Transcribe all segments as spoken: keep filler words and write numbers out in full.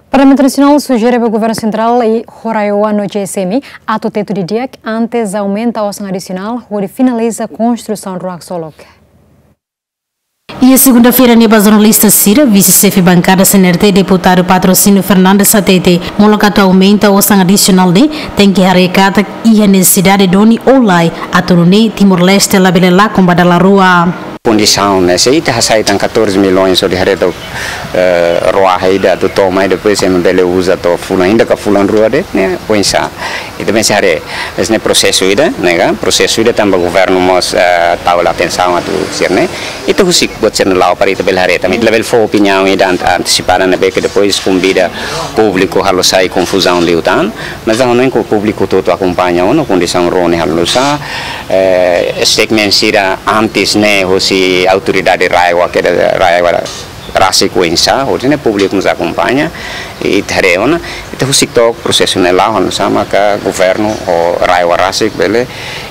Parlamentu Nasionál sujere ba Governu Sentrál ho RAEOA no GSM atu tetu didi'ak antes aumenta osan adisionál hodi finaliza konstrusaun rua haksolok. Iha segunda-feira ne'e ba jornalista sira, vise-xefe bankada CNRT, deputadu Patrocínio Fernandes hatete, molok atu aumenta osan adisionál ne'e, tenke haree katak iha nesesidade duni ou lae, atu nune'e Timor-Leste labele lakon ba dala rua. Kondisaun ne'e, se ita hasai tan catorze milhões hodi haree atu, eh, rua ida atu toma, i depois ema bele uza to'o fulan ida ka fulan rua de'it, ne'e oinsá. Ita tenke haree, esse ne'e prosesu ida, ne'e ka, prosesu ida tanba governu mós, eh, tau hela atensaun atu sira-ne'e. Ita husik buat sira-ne'e la'o para ita bele haree, tanba ita labele fó opiniaun ida ant-, antesipada ne'ebé ke depois konvida públiku halo sai konfuzaun liután. Mas ha'u hanoin katak públiku hotu-hotu akompaña ona kondisaun rua ne'e halo nu'usá, eh, statement sira antes ne'e hosi autoridade RAEOA, ke RAEOA rasik oinsá, hotu ne'e públiku mós akompaña, i ita haree ona, ita husik took prosesu ne'e la'o, halo nu'usá maka governu ho RAEOA rasik bele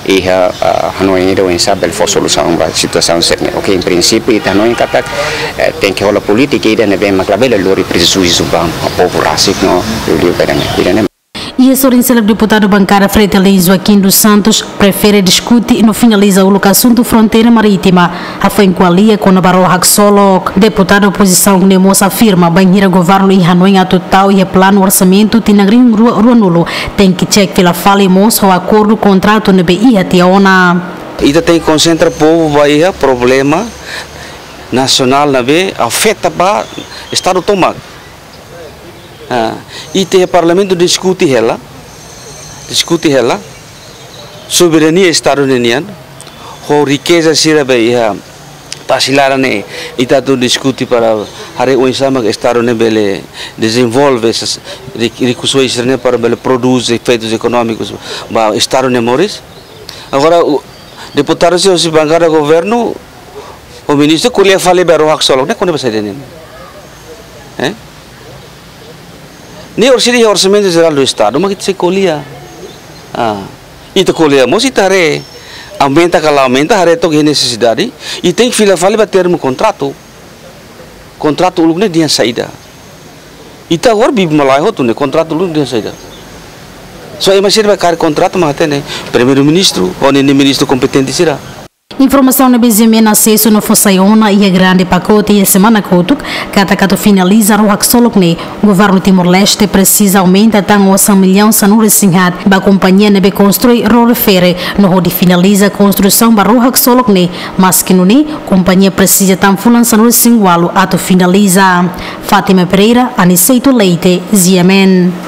iha, ah, hanoin ida oinsá bele fó solusaun ba situasaun sira-ne'e. Oke, em princípio, ita hanoin katak, eh, tenke hola polítika ida ne'ebé mak labele lori prejuízu ba povu rasik no liuliu ba ida-ne'e. Ida-ne'e. Iha sorin seluk, deputadu bankada FRETILIN Joaquim dos Santos prefere diskute no finaliza uluk asuntu fronteira marítima, hafoin ko'alia kona-ba rua haksolok. Deputadu opozisaun ne'e mós afirma, bainhira governu iha hanoin atu tau iha planu orsamentu tinan rihun rua ruanulu, tenke cek fila fali mós ho akordu kontratu ne'ebé iha tiha ona. Ita tenke konsentra povu ba iha problema nasionál ne'ebé afeta ba Estadu tomak. Ah, ita iha Parlamentu diskute hela, diskute hela soberania Estadu ninian, ho rikeza sira be iha tasi laran ne'e, ita atu diskute para haree oinsá mak Estadu ne'e bele dezenvolve essas ri-, rikusoin sira-ne'e para bele produz efeitus ekonómikus ba Estadu nia moris. Agora, o deputadu sira hosi bankada governu, o ministru ko'alia fali ba rua haksolok, ne'e kona-ba saida ne'e? Eh? Ne'e orsida iha Orsamentu Jerál do Estadu, mak ita sei ko'alia. Ah, ita ko'alia mós ita haree, aumenta ka la aumenta, haree took iha nesesidade, i tenke fila fali ba termu kontratu. Kontratu uluk ne'e dehan saida. Ita agora bibi malae hotu ne'e, kontratu uluk dehan saida. Só ema sira be kaer kontratu mak hatene, Primeiru-Ministru, ho ninia ministru kompetente sira. Informasaun ne'ebé GMN asesu no fó sai ona iha grande pakote iha semana kotuk, katak atu finaliza rua haksolok ne'e, governu Timor-Leste presiza aumenta tan osan millaun sanulu-resin-haat ba kompañia ne'ebé konstrui roro-fere no hodi finaliza konstrusaun ba rua haksolok ne'e, maski nune'e, kompañia presiza tan fulan sanulu-resin-ualu atu finaliza. Fátima Pereira, Aniceto Leite, GMN.